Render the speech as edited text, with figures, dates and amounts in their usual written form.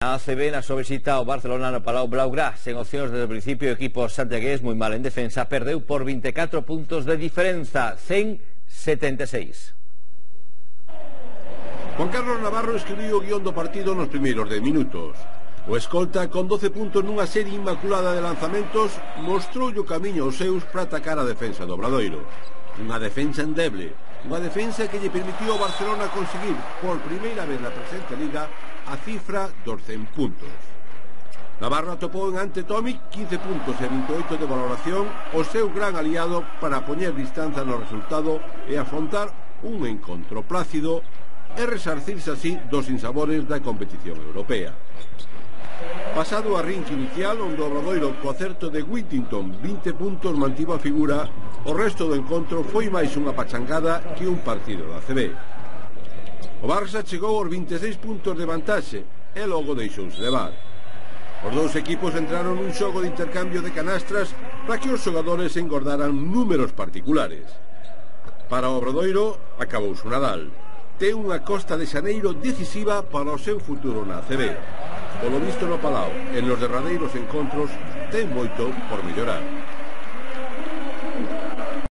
A ACB na súa visita ao Barcelona no Palau Blaugrana, sen opcións desde o principio, o equipo santiagués moi mal en defensa, perdeu por 24 puntos de diferenza, 176. Juan Carlos Navarro escribiu o guión do partido nos primeiros 10 minutos. O escolta, con 12 puntos nunha serie inmaculada de lanzamentos, mostrou o camiño aos seus para atacar a defensa do Obradoiro. Unha defensa endeble, unha defensa que lle permitiu ao Barcelona conseguir por primeira vez na presente liga a cifra dos 100 puntos. Navarro atopou en ante Tomic 15 puntos e 28 de valoración, o seu gran aliado para poñer distancia no resultado e afrontar un encontro plácido e resarcirse así dos insabores da competición europea. Pasado o arrinque inicial, onde o Obradoiro co acerto de Whittington 20 puntos mantivo a figura, o resto do encontro foi máis unha pachangada que un partido da ACB. O Barça chegou aos 26 puntos de vantaxe e logo deixouse levar. Os dous equipos entraron nun xogo de intercambio de canastras para que os xogadores engordaran números particulares. Para o Obradoiro, acabouse o Nadal. Ten unha Costa de Xaneiro decisiva para o seu futuro na ACB. Polo visto no Palau, en los derradeiros encontros, ten moito por mellorar.